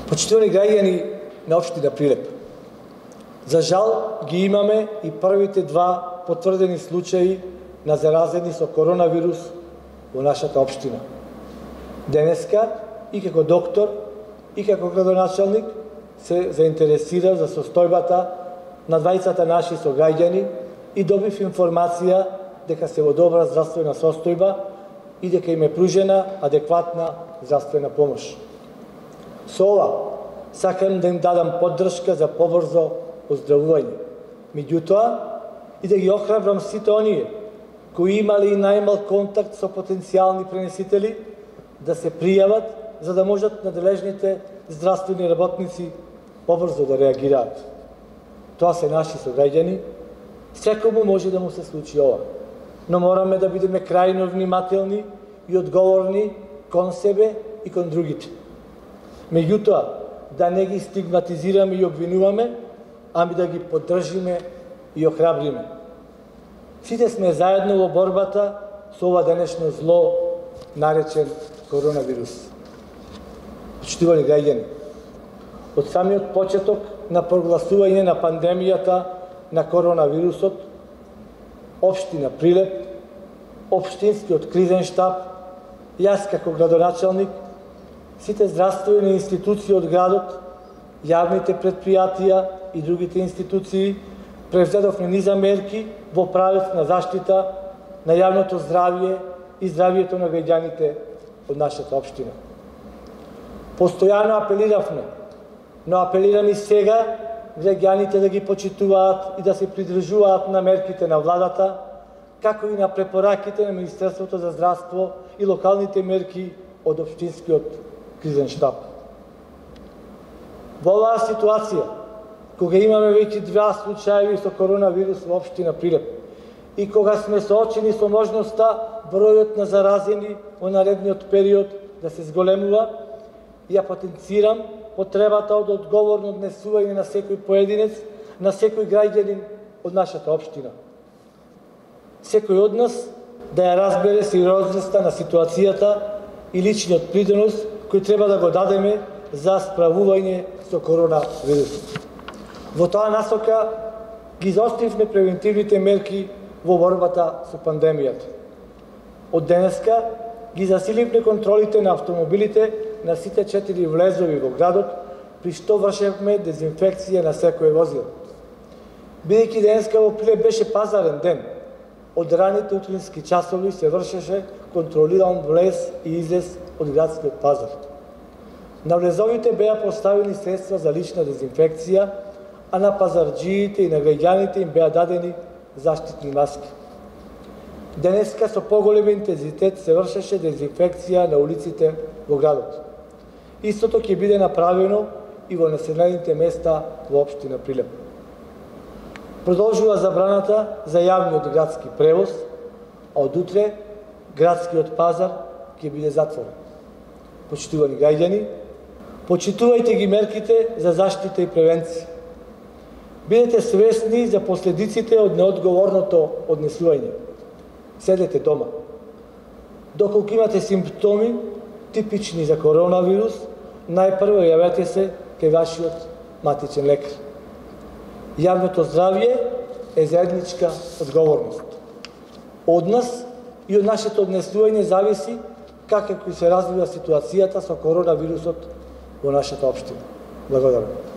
Почитувани граѓани на општина Прилеп, за жал ги имаме и првите два потврдени случаи на заразени со коронавирус во нашата општина. Денеска и како доктор и како градоначалник се заинтересирав за состојбата на двајцата наши сограѓани и добив информација дека се во добра здравствена состојба и дека им е пружена адекватна здравствена помош. Со ова сакам да им дадам поддршка за побрзо оздравување. Меѓутоа, и да ги охрабрам сите оние кои имали и најмал контакт со потенцијални пренесители да се пријават за да можат надлежните здравствени работници побрзо да реагираат. Тоа се наши сограѓани, секому може да му се случи ова, но мораме да бидеме крајно внимателни и одговорни кон себе и кон другите. Меѓутоа, да не ги стигматизираме и обвинуваме, ами да ги поддржиме и охрабриме. Сите сме заедно во борбата со ова денешно зло наречен коронавирус. Почитувани граѓани, од самиот почеток на прогласување на пандемијата на коронавирусот, општина Прилеп, општинскиот кризен штаб, јас како градоначалник, сите здравствени институции од градот, јавните предпријатија и другите институции превзедовме низа мерки во правец на заштита на јавното здравје и здравјето на граѓаните од нашата општина. Постојано апелиравме, но апелирам и сега граѓаните да ги почитуваат и да се придржуваат на мерките на владата, како и на препораките на Министерството за здравство и локалните мерки од општинскиот кризен штаб. Во оваа ситуација, кога имаме веќе два случаи со коронавирус во општина Прилеп и кога сме соочени со можноста бројот на заразени во наредниот период да се зголемува, ја потенцирам потребата од одговорно однесување на секој поединец, на секој граѓанин од нашата општина. Секој од нас да ја разбере сериозноста на ситуацијата и личниот придонос кој треба да го дадеме за справување со коронавирусот. Во тоа насока ги заостривме превентивните мерки во борбата со пандемијата. Од денеска ги засиливме контролите на автомобилите на сите 4 влезови во градот, при што вршевме дезинфекција на секое возило. Бидејќи денеска во Прилеп беше пазарен ден, од раните утрински часови се вршеше контролиран влез и излез од градскиот пазар. На влезовите беа поставени средства за лична дезинфекција, а на пазарџиите и на граѓаните им беа дадени заштитни маски. Денеска со поголем интензитет се вршеше дезинфекција на улиците во градот. Истото ќе биде направено и во населените места во општина Прилеп. Продолжува забраната за јавниот градски превоз, а од утре градскиот пазар ќе биде затворен. Почитувани граѓани, почитувајте ги мерките за заштита и превенција. Бидете свесни за последиците од неодговорното однесување. Седете дома. Доколку имате симптоми типични за коронавирус, најпрво јавете се кај вашиот матичен лекар. Јавното здравје е заедничка одговорност. Од нас и од нашето однесување зависи како се развива ситуацијата со коронавирусот во нашата општина. Благодарам.